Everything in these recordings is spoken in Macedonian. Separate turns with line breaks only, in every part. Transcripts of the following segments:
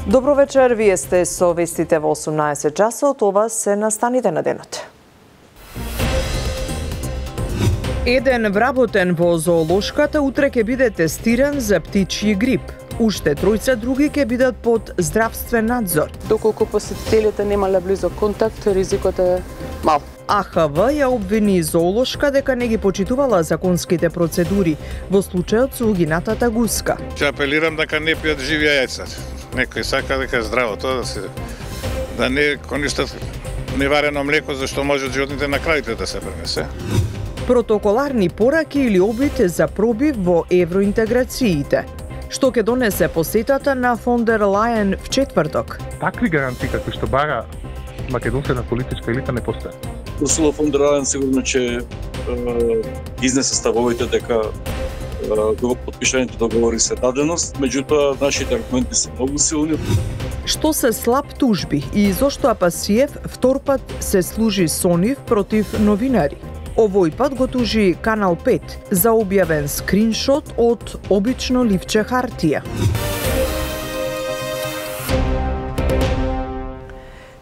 Добро вечер, вие сте со вестите во 18 часот, ова се настаните на денот. Еден вработен во зоолошката утре ќе биде тестиран за птичји грип. Уште тројца други ќе бидат под здравствен надзор.
Доколку посетителите немале близок контакт, ризикот е мал.
АХВ ја обвини зоолошка дека не ги почитувала законските процедури во случајот со угинатата гуска.
Ќе апелирам дека не пијат живи јајца. Некој сака дека е здраво тоа да не користат неварено млеко зашто може животните на крајите да се пренесе.
Протоколарни пораки или обид за пробив во евроинтеграциите. Што ќе донесе посетата на фон дер Лајен в четврток?
Такви гаранции какви што бара македонската политичка елита не постои.
Урсула фон дер Лајен сигурно ќе изнесе ставовите дека подпишаните договори се даденост, меѓутоа нашите аргументи се многу силни.
Што се слаб тужби и зошто Апасиев втор пат се служи со нив против новинари? Овој пат го тужи Канал 5 за објавен скриншот од обично ливче хартија.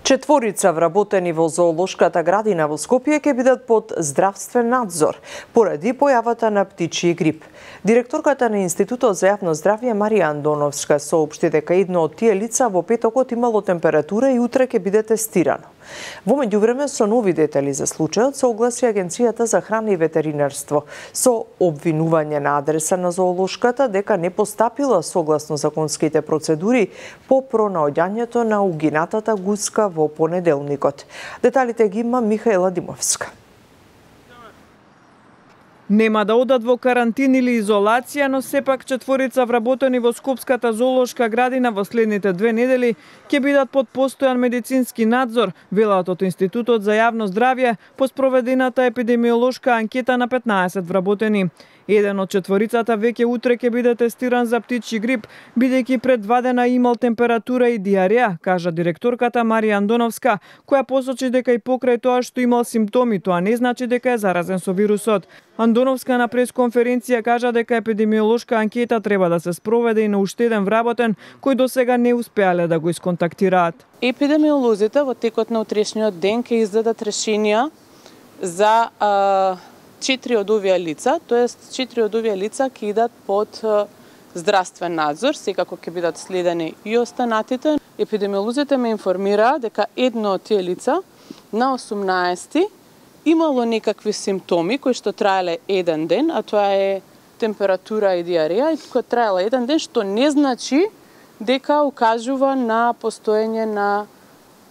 Четворица вработени во зоолошката градина во Скопје ќе бидат под здравствен надзор поради појавата на птичји грип. Директорката на Институтот за јавно здравје Марија Андоновска соопшти дека едно од тие лица во петокот имало температура и утре ќе биде тестирано. Во меѓувреме со нови детали за случајот се огласи Агенцијата за храна и ветеринарство со обвинување на адреса на зоолошката дека не постапила согласно законските процедури по пронаоѓањето на угинатата гуска во понеделникот. Деталите ги има Михаела Димовска.
Нема да одат во карантин или изолација, но сепак четворица вработени во Скопската зоолошка градина во следните 2 недели ќе бидат под постојан медицински надзор, велат од Институтот за јавно здравје по спроведената епидемиолошка анкета на 15 вработени. Еден од четворицата веќе утре ќе биде тестиран за птичји грип, бидејќи пред 2 дена имал температура и диареја, кажа директорката Марија Андоновска, која посочи дека и покрај тоа што имал симптоми, тоа не значи дека е заразен со вирусот. Андоновска на пресконференција кажа дека епидемиолошка анкета треба да се спроведе и на уште еден вработен кој досега не успеале да го исконтактираат.
Епидемиолозите во текот на утрешниот ден ќе издадат решенија за 4 од овие лица, тоест 4 од овие лица ќе идат под здравствен надзор, секако ќе бидат следени и останатите. Епидемиолозите ме информираа дека едно од тие лица на 18 имало некакви симптоми кои што траеле еден ден, а тоа е температура и диареја, и кој траела еден ден, што не значи дека укажува на постоење на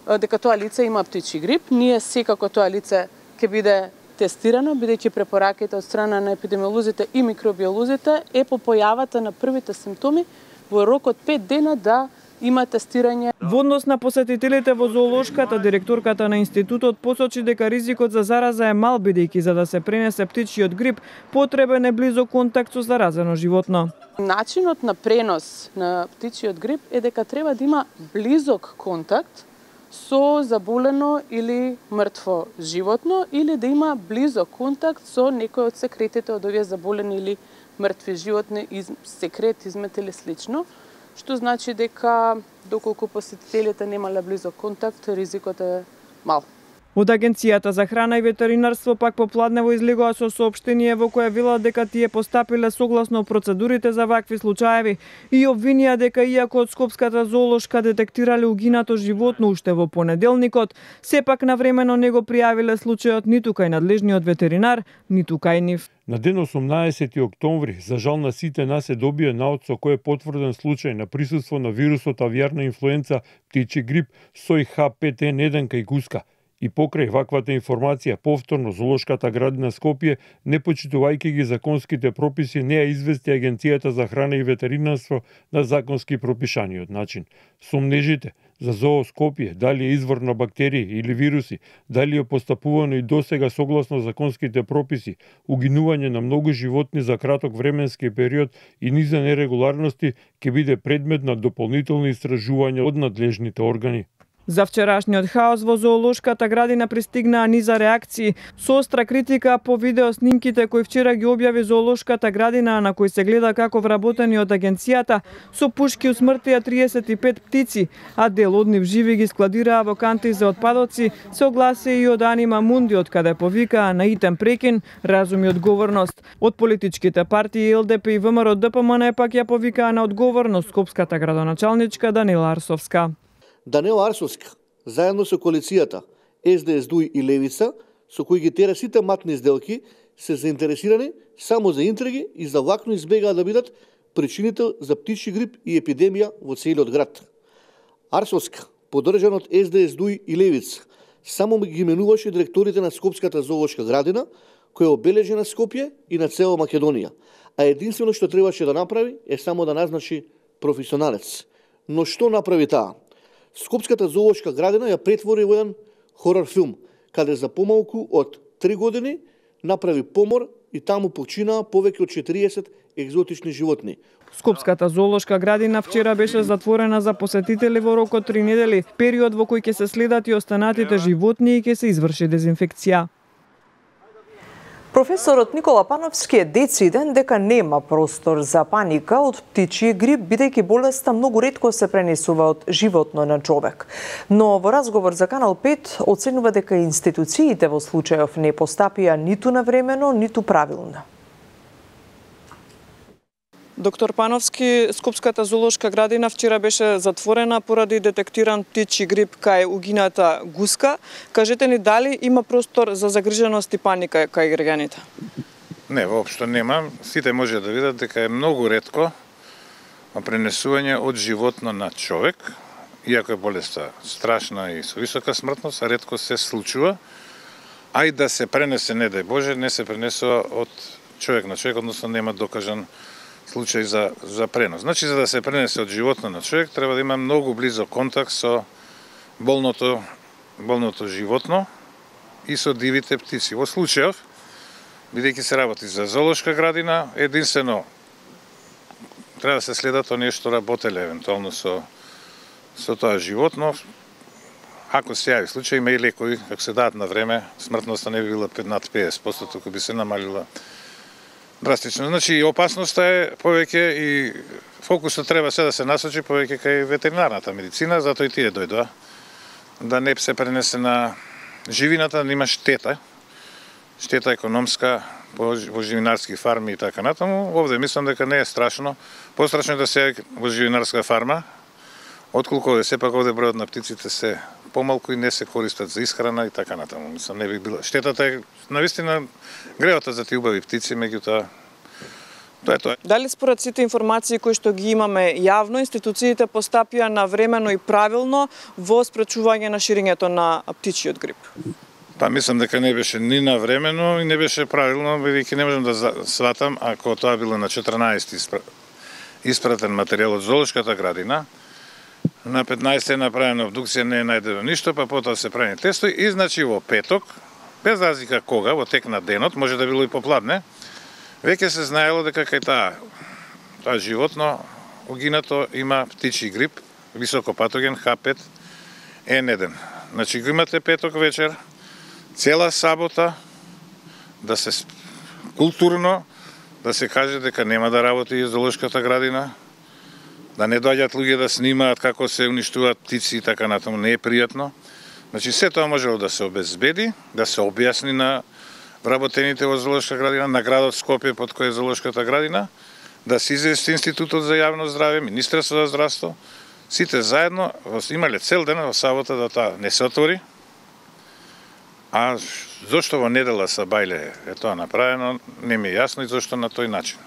дека тоа лице има птичји грип. Ние секако тоа лице ќе биде тестирано, бидејќи препораките од страна на епидемиолозите и микробиолозите е по појавата на првите симптоми во рок од 5 дена да има тестирање.
Во однос на посетителите во зоолошката, директорката на институтот посочи дека ризикот за зараза е мал, бидејќи за да се пренесе птичјиот грип потребен е близок контакт со заразено животно.
Начинот на пренос на птичјиот грип е дека треба да има близок контакт со заболено или мртво животно, или да има близок контакт со некој од секретите од овие заболени или мртви животни, секрет, измет или слично, што значи дека доколку посетителите немале близок контакт, ризикот е мал.
Од Агенцијата за храна и ветеринарство пак попладнево излегоа со соопштение во кое велат дека тие постапиле согласно процедурите за вакви случаеви и обвинија дека иако од Скопската зоолошка детектирале угинато животно уште во понеделникот, сепак навремено не го пријавиле случајот ниту кај надлежниот ветеринар, ниту кај нив.
На ден 18 октомври, за жал на сите нас, се добија наод со кој е потврден случај на присуство на вирусот авијарна инфлуенца птичји грип сој H5N1 кај гуска. И покрај ваквата информација, повторно зоолошката градина Скопје, не почитувајќи ги законските прописи, не ја извести Агенцијата за храна и ветеринарство на законски пропишаниот начин. Сомнежите за зоо Скопје, дали е извор на бактерии или вируси, дали е постапувано и досега согласно законските прописи, угинување на многу животни за краток временски период и низа нерегуларности ќе биде предмет на дополнителни истражувања од надлежните органи.
За вчерашниот хаос во зоолошката градина пристигнаа низа реакции, со остра критика по видео снимките кои вчера ги објави зоолошката градина, на кои се гледа како вработени од агенцијата со пушки усмртија 35 птици, а дел од нив живи ги складираа во канти за отпадоци, се огласи и од Анима Мунди, од каде повикаа на итен прекин, разум и одговорност. Од политичките партии ЛДП и ВМРО ДПМН пак ја повикаа на одговорност скопската градоначалничка Данила Арсовска.
Данила Арсовска, заедно со коалицијата СДС, ДУИ и Левица, со кои ги тера сите матни сделки, се заинтересирани само за интриги и за влакно избегаа да бидат причинител за птичји грип и епидемија во целиот град. Арсовска, поддржан од СДС, ДУИ и Левица, само ги менуваше директорите на Скопската зоолошка градина, која обележи на Скопје и на цела Македонија, а единствено што требаше да направи е само да назначи професионалец. Но што направи таа? Скопската зоолошка градина ја претвори во еден хорор филм, каде за помалку од 3 години направи помор и таму починаа повеќе од 40 екзотични животни.
Скопската зоолошка градина вчера беше затворена за посетители во рок од 3 недели, период во кој ќе се следат и останатите животни и ќе се изврши дезинфекција.
Професорот Никола Пановски е дециден дека нема простор за паника од птичји грип, бидејќи болеста многу ретко се пренесува од животно на човек. Но во разговор за Канал 5 оценува дека институциите во случајов не постапија ниту навремено, ниту правилно.
Доктор Пановски, Скопската зоолошка градина вчера беше затворена поради детектиран птичји грип кај угината гуска. Кажете ни дали има простор за загриженост и паника кај граѓаните?
Не, воопшто нема. Сите може да видат дека е многу ретко пренесување од животно на човек, иако е болеста страшна и со висока смртност, ретко се случува, а и да се пренесе, не дај Боже, не се пренесува од човек на човек, односно нема докажан случај за пренос. Значи, за да се пренесе од животно на човек, треба да има многу близо контакт со болното животно и со дивите птици. Во случајов, бидејќи се работи за зоолошка градина, единствено треба да се следат оние што работеле евентуално со тоа животно. Ако се јави случај, има и лекови, ако се дадат на време, смртноста не би била над 50%, туку би се намалила драстично. Значи, опасноста е повеќе и фокусот треба се да се насочи повеќе кај ветеринарната медицина, затоа и тие дојдоа да не се пренесе на живината, да има штета економска во живинарски фарми и така натаму. Овде мислам дека не е страшно. Пострашно е да се во живинарска фарма, отколку овде сепак овде бројот на птиците се помалку и не се користат за исхрана и така натаму. Мислам, не би била. Штетата е навистина гревата за тие убави птици, меѓутоа тоа е тоа.
Дали според сите информации кои што ги имаме јавно, институциите постапија навремено и правилно во спречување на ширењето на птичјиот грип?
Па мислам дека не беше ни навремено и не беше правилно, бидејќи не можам да сватам ако тоа било на 14 испратен материјал од зоолошката градина. На 15 е направена обдукција, не е најдено ништо, па потоа се прави тестови и значи во петок, без разлика кога, во тек на денот, може да било и попладне, веќе се знаело дека кај тоа животно угинато има птичји грип, високопатоген H5N1. Значи го имате петок вечер, цела сабота, да се културно, да се каже дека нема да работи зоолошката градина, да не доаѓаат луѓе да снимаат како се уништуваат птици и така натаму, не е пријатно. Значи, се тоа можело да се обезбеди, да се објасни на вработените во зоолошка градина, на градот Скопје под кој е зоолошката градина, да се извести Институтот за јавно здравје, Министерството за здравство, сите заедно имале цел ден во сабота да тоа не се отвори. А зошто во недела са бајле е тоа направено, не ми е јасно и зошто на тој начин.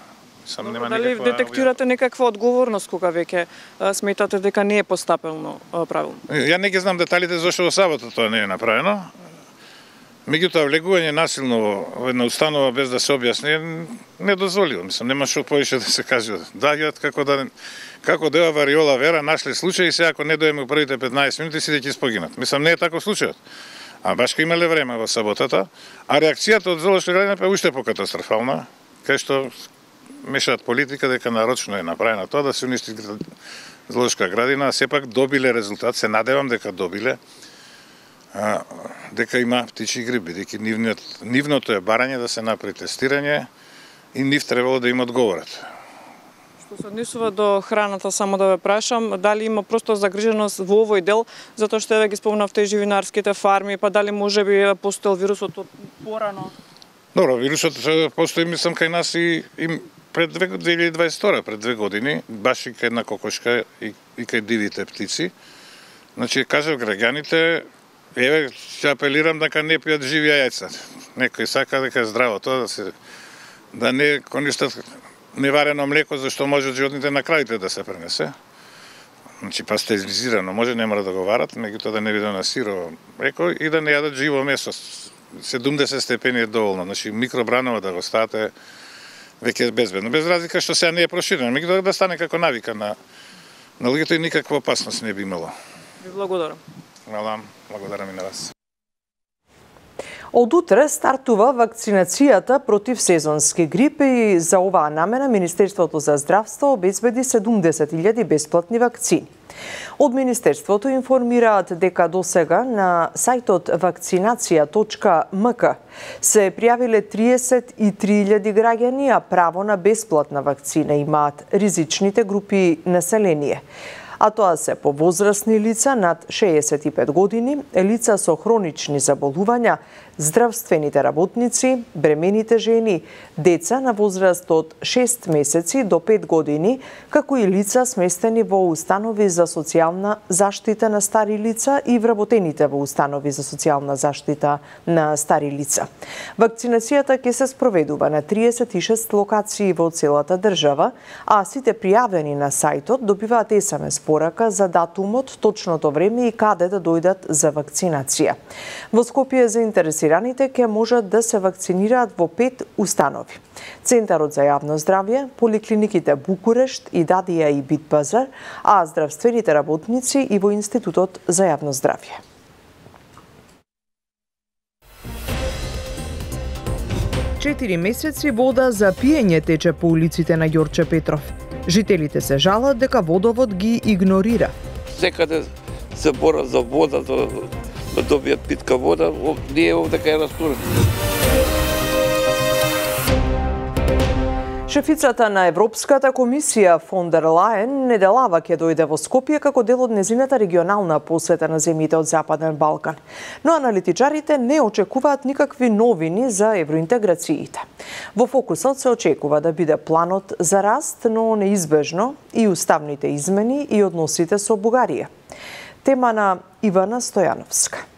Дали детектирате некаква одговорност кога веќе сметате дека не е постапено правилно?
Ја не ги знам деталите зашто во сабота тоа не е направено. Меѓутоа, влегување насилно во една установа без да се објасни е недозволиво. Мислам, нема што повеќе да се каже. Доаѓаат како дева вариола вера, нашле случаи и сега ако не дојдеме првите 15 минути сите ќе спогинат. Мислам, не е таков случајот. А баш кога имале време во саботата, а реакцијата од зоолошка градина е уште покатастрофална, кај што мешаат политика дека нарочно е направена тоа да се уништи зоолошка градина, а сепак добиле резултат, се надевам дека добиле, дека има птичи грип, бидејќи нивното е барање да се направи тестирање и нив требало да им одговорат.
Што се однесува до храната, само да ве прашам, дали има просто загриженост во овој дел, затоа што еве ги спомнавте живинарските фарми, па дали можеби постоел вирусот од порано?
Добро, вирусот постои, мислам, кај нас и пред 2022, пред 2 години, баш и кај една кокошка и кај дивите птици. Значи, кажав граѓаните, еве, ќе апелирам дека не пијат живи јајца. Некој сака дека е здраво тоа, да не користат неварено млеко, зашто може животните на кравите да се пренесе. Значи, пастеризирано, може нема да го варат, меѓутоа да не биде на сирово млеко и да не јадат живо месо. 70 степени е доволно, значи микробранова да го ставате веќе е безбедно. Без разлика што сега не е проширено, меѓутоа да стане како навика на луѓето и никаква опасност не би имало.
Ви благодарам.
Благодарам и на вас.
Од утре стартува вакцинацијата против сезонски грип и за оваа намена Министерството за здравство обезбеди 70.000 бесплатни вакцини. Од Министерството информираат дека досега на сајтот vakcinacija.mk се пријавиле 33.000 граѓани, а право на бесплатна вакцина имаат ризичните групи население. А тоа се повозрастни лица над 65 години, лица со хронични заболувања, здравствените работници, бремените жени, деца на возраст од 6 месеци до 5 години, како и лица сместени во установи за социјална заштита на стари лица и вработените во установи за социјална заштита на стари лица. Вакцинацијата ќе се спроведува на 36 локации во целата држава, а сите пријавени на сајтот добиваат SMS порака за датумот, точното време и каде да дојдат за вакцинација. Во Скопје заинтересираните ќе можат да се вакцинираат во 5 установи: Центарот за јавно здравје, поликлиниките Букурешт, Идадија и Битпазар, а здравствените работници и во Институтот за јавно здравје. Четири месеци вода за пиење тече по улиците на Ѓорче Петров. Жителите се жалат дека водовод ги игнорира.
Секаде се борат за вода, да добијат питка вода, ние овде кај растурен.
Шефицата на Европската комисија фон дер Лајен неделава ќе дојде во Скопје како дел од незината регионална посета на земјите од Западен Балкан. Но аналитичарите не очекуваат никакви новини за евроинтеграциите. Во фокусот се очекува да биде планот за раст, но неизбежно и уставните измени и односите со Бугарија. Тема на Ивана Стојановска.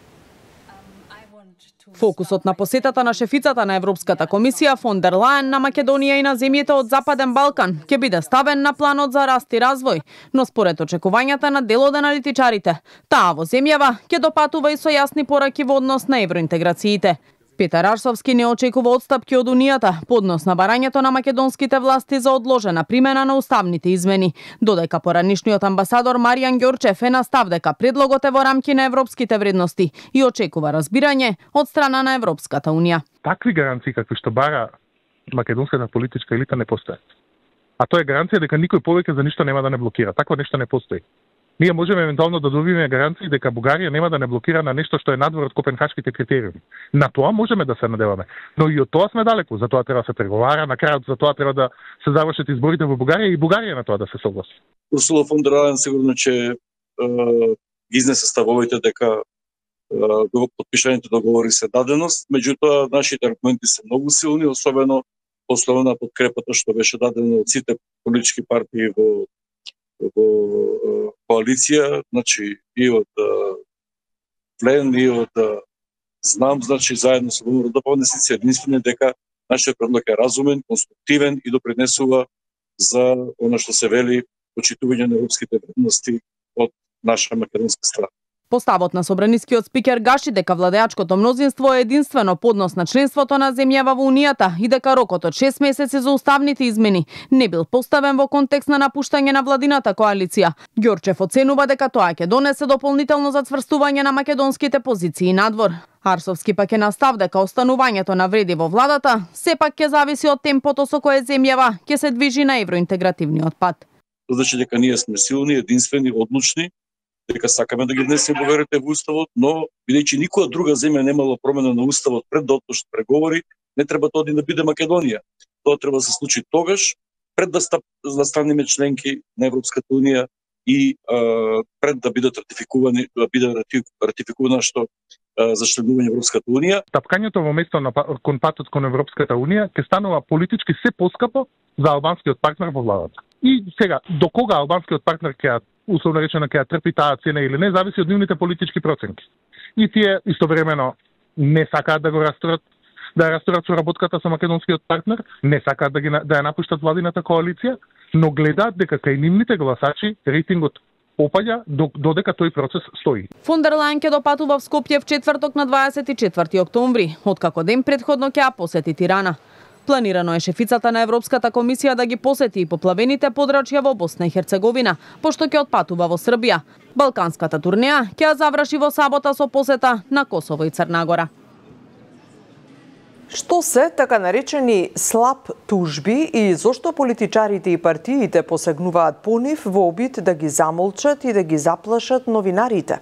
Фокусот на посетата на шефицата на Европската комисија фон дер Лајен на Македонија и на земјите од Западен Балкан ќе биде ставен на планот за раст и развој, но според очекувањата на дел од аналитичарите, таа во земјава ќе допатува и со јасни пораки во однос на евроинтеграциите. Петар Арсовски не очекува отстапки од Унијата по однос на барањето на македонските власти за одложена примена на уставните измени, додека поранишниот амбасадор Маријан Ѓорчев е на став дека предлогот е во рамки на европските вредности и очекува разбирање од страна на Европската Унија.
Такви гаранции какви што бара македонската политичка елита не постојат. А тоа е гаранција дека никој повеќе за ништо нема да не блокира. Такво нешто не постои. Ние можеме евентуално да добиеме гаранции дека Бугарија нема да не блокира на нешто што е надвор од копенхашките критериуми. На тоа можеме да се надеваме, но и од тоа сме далеку. За тоа треба да се преговара, на крајот за тоа треба да се завршат изборите во Бугарија и Бугарија на тоа да се согласи.
Урсула фон дер Лајен сигурно че изнесе ставовите дека подпишаните договори се даденост, меѓутоа нашите аргументи се многу силни, особено после на подкрепата што беше дадена од сите политички партии во коалиција, значи и од Плен и од Знам, значи заедно со ВМРО се единствени дека нашиот предлог е разумен, конструктивен и допринесува за она што се вели почитување на европските вредности од наша македонска страна.
Поставот на собранискиот спикер гаши дека владеачкото мнозинство е единствено поднос на членството на земјава во Унијата и дека рокот од 6 месеци за уставните измени не бил поставен во контекст на напуштање на владината коалиција. Ѓорчев оценува дека тоа ќе донесе дополнително зацврстување на македонските позиции надвор. Арсовски пак е настав дека останувањето на вреди во владата сепак ќе зависи од темпото со кое земјава ќе се движи на евроинтегративниот пат.
Значи дека ние сме силни, единствени, одлучни, дека сакаме да ги внесеме поверите во уставот, но бидејќи никоја друга земја немала промена на уставот пред да отпочнат преговори, не треба тоа да биде Македонија. Тоа треба да се случи тогаш, пред да станеме членки на Европската унија и пред да бидат ратификувани, што за членување Европската унија.
Тапкањето во место на кон патот кон Европската унија ќе станува политички се поскапо за албанскиот партнер во владата. И сега, до кога албанскиот партнер ќе условно речено ќе трпи таа цена или не, зависи од нивните политички проценки. И тие истовремено не сакаат да го расторат, да расторат соработката со македонскиот партнер, не сакаат да ја напуштат владината коалиција, но гледаат дека кај нивните гласачи рейтингот опаѓа додека тој процес стои.
Фон дер Лајен ќе допатува в Скопје в четврток на 24 октомври, откако ден претходно ќе ја посети Тирана. Планирано е шефицата на Европската комисија да ги посети и поплавените подрачја во Босна и Херцеговина, пошто ќе отпатува во Србија. Балканската турнеја ќе ја заврши во сабота со посета на Косово и Црна Гора.
Што се така наречени слаб тужби и зошто политичарите и партиите посегнуваат по нив во обид да ги замолчат и да ги заплашат новинарите?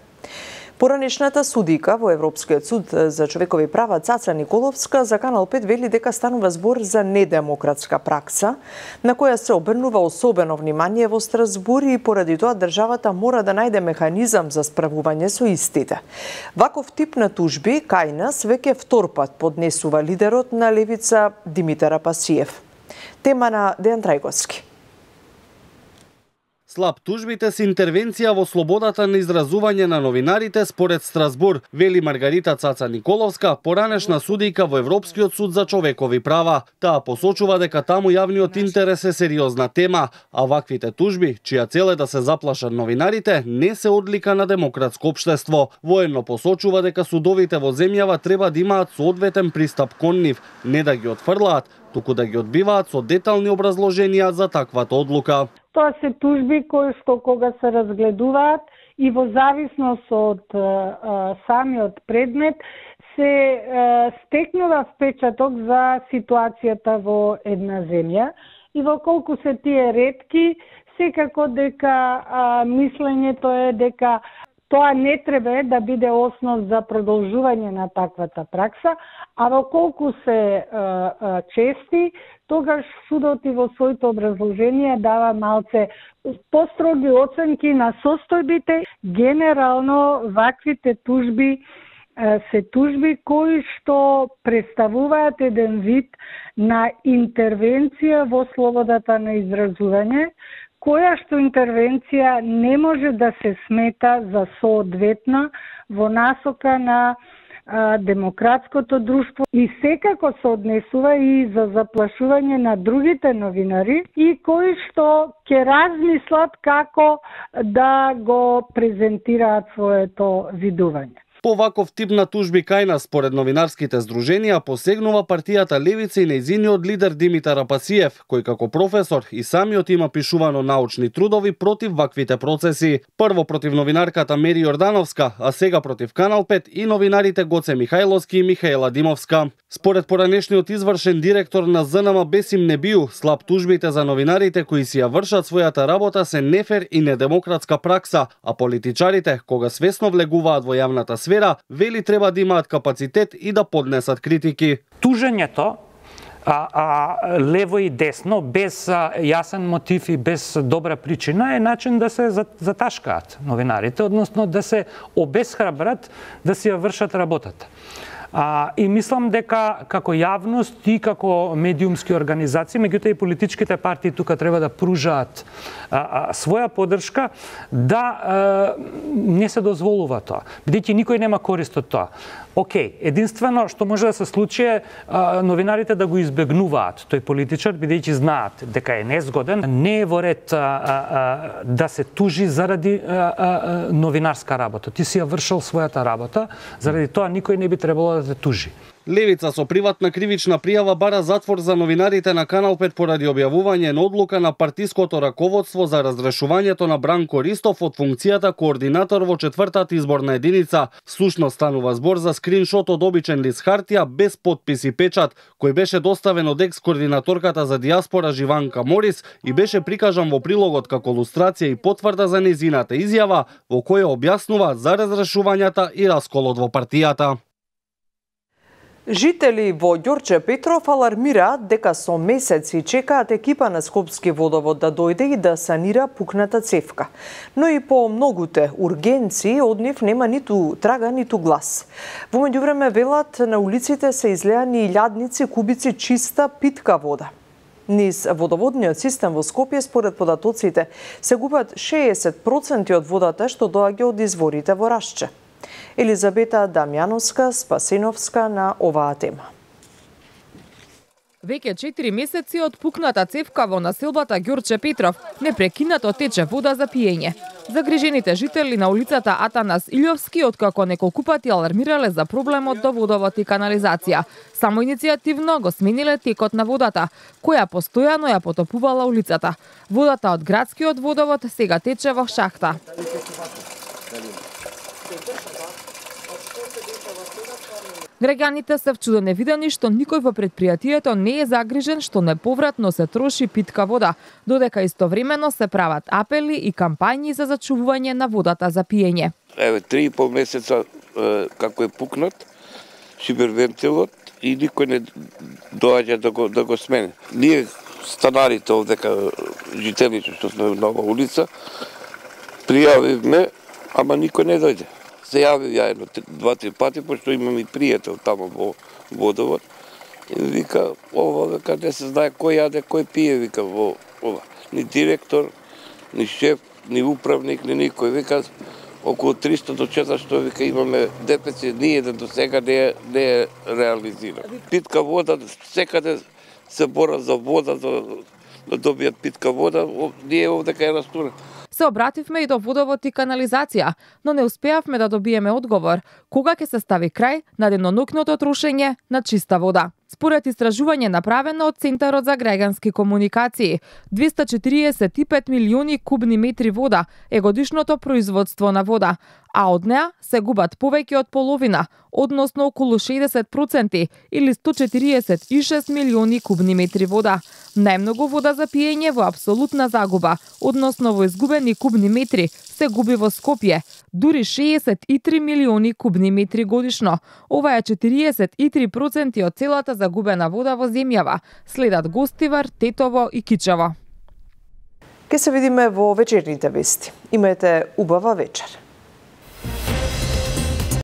Поранешната судика во Европскиот суд за човекови права Цаца Николовска за Канал 5 вели дека станува збор за недемократска пракса, на која се обрнува особено внимание во Страсбур и поради тоа државата мора да најде механизам за справување со истите. Ваков тип на тужби кај нас веќе втор пат поднесува лидерот на левица Димитар Апасиев. Тема на Дејан Трајковски.
Слаб тужбите се интервенција во слободата на изразување на новинарите според Страсбур, вели Маргарита Цаца Николовска, поранешна судика во Европскиот суд за човекови права. Таа посочува дека таму јавниот интерес е сериозна тема, а ваквите тужби, чија цел е да се заплашат новинарите, не се одлика на демократско општество. Военно посочува дека судовите во земјава треба да имаат соодветен пристап кон нив, не да ги отфрлаат, туку да ги одбиваат со детални образложенија за таквата одлука.
Тоа се тужби кои што кога се разгледуваат и во зависност од самиот предмет се стекнува впечаток за ситуацијата во една земја и во колку се тие ретки, секако дека мислењето е дека тоа не треба да биде основ за продолжување на таквата пракса, а во колку се чести, тогаш судот и во своите образложенија дава малце построги оценки на состојбите. Генерално, ваквите тужби се тужби кои што представуваат еден вид на интервенција во слободата на изразување, која што интервенција не може да се смета за соодветна во насока на демократското друштво и секако се однесува и за заплашување на другите новинари и кои што ќе размислат како да го презентираат своето видување.
По ваков тип на тужби кај нас, според новинарските здруженија, посегнува партијата Левица и нејзиниот лидер Димитар Апасиев, кој како професор и самиот има пишувано научни трудови против ваквите процеси. Прво против новинарката Мери Јордановска, а сега против Канал 5 и новинарите Гоце Михајловски и Михаела Димовска. Според поранешниот извршен директор на ЗНМ Бесим Небију, слаб тужбите за новинарите кои си ја вршат својата работа се нефер и недемократска пракса, а политичарите, кога свесно влегуваат во јавната сфера, вели треба да имаат капацитет и да поднесат критики.
Тужењето лево и десно, без јасен мотив и без добра причина, е начин да се заташкаат новинарите, односно да се обесхрабрат да си ја вршат работата. И мислам дека како јавност и како медиумски организации, меѓутоа и политичките партии тука треба да пружаат своја поддршка да не се дозволува тоа, бидејќи никој нема корист од тоа. Океј, единствено што може да се случи е новинарите да го избегнуваат тој политичар, бидејќи знаат дека е незгоден, не е во ред да се тужи заради новинарска работа. Ти си ја вршил својата работа, заради тоа никој не би требало да те тужи.
Левица со приватна кривична пријава бара затвор за новинарите на Канал 5 поради објавување на одлука на партиското раководство за разрешувањето на Бранко Ристов од функцијата координатор во 4-та изборна единица. Всушност станува збор за скриншот од обичен лист хартија без подпис и печат, кој беше доставен од екс-координаторката за дијаспора Живанка Морис и беше прикажан во прилогот како илустрација и потврда за незината изјава во која објаснува за разрешувањата и расколот во партијата.
Жители во Ѓорче Петров алармираат дека со месеци чекаат екипа на Скопски водовод да дојде и да санира пукната цевка. Но и по многуте ургенции од нив нема ниту трага, ниту глас. Во меѓувреме велат на улиците се излеани илјадници кубици чиста питка вода. Низ водоводниот систем во Скопје според податоците се губат 60% од водата што доаѓа од изворите во Рашче. Елизабета Дамјановска, Спасеновска на оваа тема.
Веќе 4 месеци од пукната цевка во населбата Ѓорче Петров непрекинато тече вода за пиење. Загрижените жители на улицата Атанас Илјовски откако неколку пати алармирале за проблемот до водовод и канализација. Само иницијативно го смениле текот на водата, која постојано ја потопувала улицата. Водата од градскиот водовод сега тече во шахта. Граѓаните се вчудо невидени што никој во предпријатието не е загрижен што неповратно се троши питка вода, додека истовремено се прават апели и кампањи за зачувување на водата за пиење.
Еве 3,5 месеца како е пукнат шибервентилот и никој не доаѓа да го смени. Ние станарите овдека жителите што сме на оваа улица пријавивме, ама никој не дојде. Се јавив ја едно 2-3 пати, пошто имам и пријател тамо во водовод. И вика, ова, вика, не се знае кој јаде, кој пие, вика, во ова. Ни директор, ни шеф, ни управник, ни никој. Вика, околу 300 до 400, вика, имаме дефицит, ни еден до сега не е реализиран. Питка вода, секаде се бора за вода, да добијат питка вода, ние овдека е растурен.
Се обративме и до водовод и канализација, но не успеавме да добиеме одговор кога ќе се стави крај на денонокното трошење на чиста вода. Според истражување направено од Центарот за граѓански комуникации, 245 милиони кубни метри вода е годишното производство на вода, а од неа се губат повеќе од половина, односно околу 60% или 146 милиони кубни метри вода. Најмногу вода за пиење во апсолутна загуба, односно во изгубени кубни метри, се губи во Скопје, дури 63 милиони кубни метри годишно. Ова е 43% од целата загубена вода во земјава, следат Гостивар, Тетово и Кичево.
Ке се видиме во вечерните вести. Имајте убава вечер.